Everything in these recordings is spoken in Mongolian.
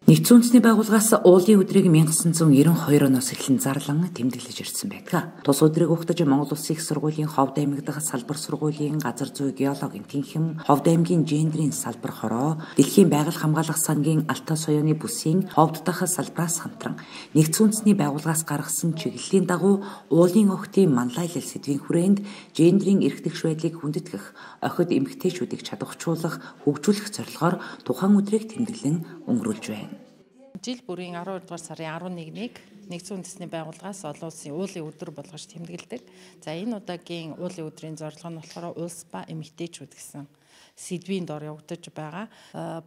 Нэгдсэн үндэсний байгууллагаас уулын өдрийг 1992 оноос эхлэн зарлан тэмдэглэж ирсэн байдаг. Тус өдрийг угтаж Монгол Улсын их сургуулийн Ховд аймаг дахь салбар сургуулийн газар зүй геологийн тэнхим, Ховд аймгийн гендрийн салбар хороо, Дэлхийн байгаль хамгаалах сангийн Алтай соёоны бүсийн Ховд дахь салбраас хамтран Нэгдсэн үндэсний байгууллагаас гаргасан чиглэлийн дагуу уулын охтын манлайлал сэдвийн хүрээнд гендрийн эрх тэгш байдлыг хүндэтгэх, охид эмэгтэйчүүдийг чадварчуулах, хөгжүүлэх зорилгоор тухайн өдрийг тэмдэглэн өнгөрүүлж байна. Жил бүрийн 12 дугаар сарын 11-ийг Нэгдсэн үндэсний байгууллагаас олон улсын уулын өдөр болгож тэмдэглэдэг. За энэ удаагийн уулын өдрийн зорилго нь болохоор улс ба эмэгтэйчүүд гэсэн сэдвийн дор явагдаж байгаа.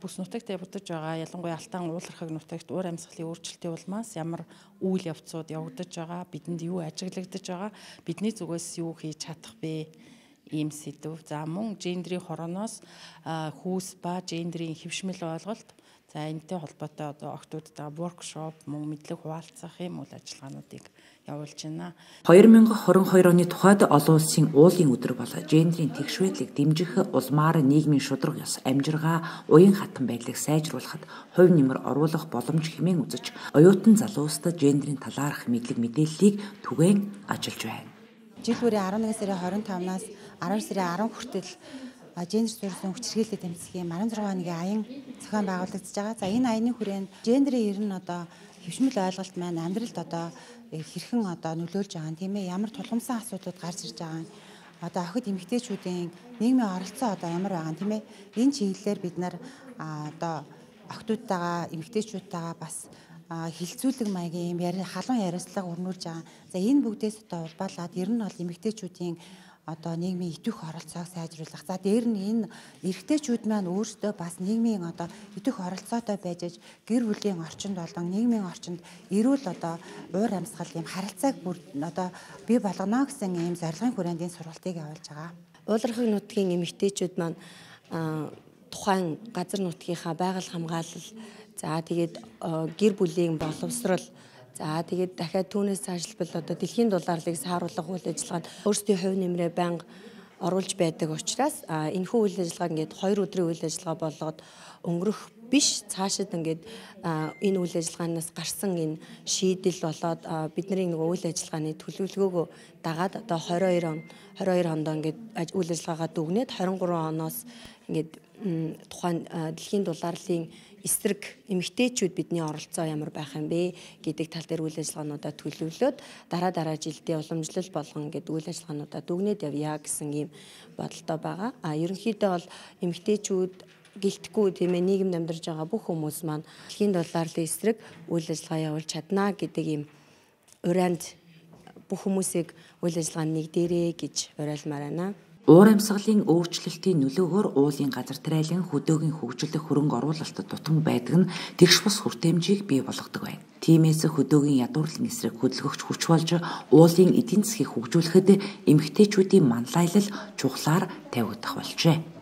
Бүс нутагт явагдаж байгаа ялангуяа Алтан уулархаг нутагт уур амьсгалын өөрчлөлтийн улмаас ямар үйл явцууд явагдаж байгаа, бидэнд юу ажиглагдаж байгаа, бидний зүгээс юу хийж чадах вэ? Ийм сэдв. За мөн гендрийн хорооноос хүүс ба гендрийн хэвшмэл ойлголт. За энэтэй холбоотой одоо охтуудтай воркшоп, мөн мэдлэг хуваалцах юм үйл ажиллагаануудыг явуулж байна. 2022 оны тухайд олон улсын уулын өдөр бол гендрийн тэгш байдлыг дэмжих улмаар нийгмийн шударга ёс, амжиргаа, уян хатан байдлыг сайжруулахад хувь нэмэр оруулах боломж хэмээн үзэж, оюутан залуустад гендрийн талаарх мэдлэг мэдээллийг түгээн ажиллаж байна. Жил бүрийн 11 сарын 25-наас 12 сарын 10 хүртэл гендер суурьсан хүчирхийлэлд тэмцэх юм 16 хоногийн аян зохион байгуулагдаж байгаа. За энэ аяны хүрээнд гендерийн ер нь одоо хэвшмэл ойлголт маань амьдралд одоо хэрхэн одоо нөлөөлж байгаа юм тийм ээ, ямар тулгамсан асуудлууд гарч ирж байгаа юм. Одоо охид эмэгтэйчүүдийн нийгмийн оролцоо одоо ямар байгаа юм тийм ээ. Энэ чиглэлээр бид нар одоо охидуудтайгаа, эмэгтэйчүүдтэйгаа бас хилцүүлэг маягийн халуун яриацлага өрнүүлж байгаа. За энэ бүгдээс одоо улбаалаад ер нь бол эмэгтэйчүүдийн одоо нийгмийн идэвх оролцоог сайжруулах. За дээр нь энэ эрэгтэйчүүд маань өөрсдөө бас нийгмийн одоо идэвх оролцоотой байж гэр бүлийн орчинд болон нийгмийн орчинд эрүүл одоо уур амьсгал юм харилцааг бүр одоо бий болгоно гэсэн ийм зорилгын хүрээнд энэ сургалтыг явуулж байгаа. Уулархаг нутгийн эмэгтэйчүүд маань тухайн газар нутгийнхаа байгаль хамгаалал, за тэгээд гэр бүлийн боловсрол, за тэгээд дахиад түүнээс цаашлбал одоо дэлхийн дулаалыг сааруулах үйл ажиллагаанд өөрсдийн хувь нэмрээ байнга оруулж байдаг учраас энэхүү үйл ажиллагааг ингээд 2 өдрийн үйл ажиллагаа болгоод өнгөрөх биш, цаашид ингээд энэ үйл ажиллагаанаас гарсан энэ шийдэл болоод бидний нэг үйл ажиллагааны төлөвлөгөөгөө дагаад одоо 22 онд ингээд үйл ажиллагаагаа дүгнээд 23 оноос ингээд тухайн дэлхийн дулаалын эсрэг эмэгтэйчүүд бидний оролцоо ямар байх юм бэ гэдэг тал дээр үйл ажиллагаануудаа төлөвлөөд дараа жилдээ уламжлал болгон гэдэг үйл ажиллагаануудаа дүгнээд явъя гэсэн ийм бодолтой байгаа. Ерөнхийдөө бол эмэгтэйчүүд гэлтэхгүй тийм ээ, нийгэмд амьдарч байгаа бүх хүмүүс маань дэлхийн дулаалын эсрэг үйл ажиллагаа явуулж чадна гэдэг ийм урайнд бүх хүмүүсийг үйл ажиллагаанд нэгдээрэй гэж уриалмаар байна. Уур амьсгалын өөрчлөлтийн нөлөөгөөр уулын газар тариалан хөдөөгийн хөгжлөх хөрөнгө оруулалтад дутан байдаг нь тэгш бус хүртээмжийг бий болгодог байна. Тиймээс хөдөөгийн ядуурлын эсрэг хөдөлгөгч хүч болж уулын эдийн засгийг хөгжүүлэхэд эмэгтэйчүүдийн манлайлал чухлаар тавигдах болжээ.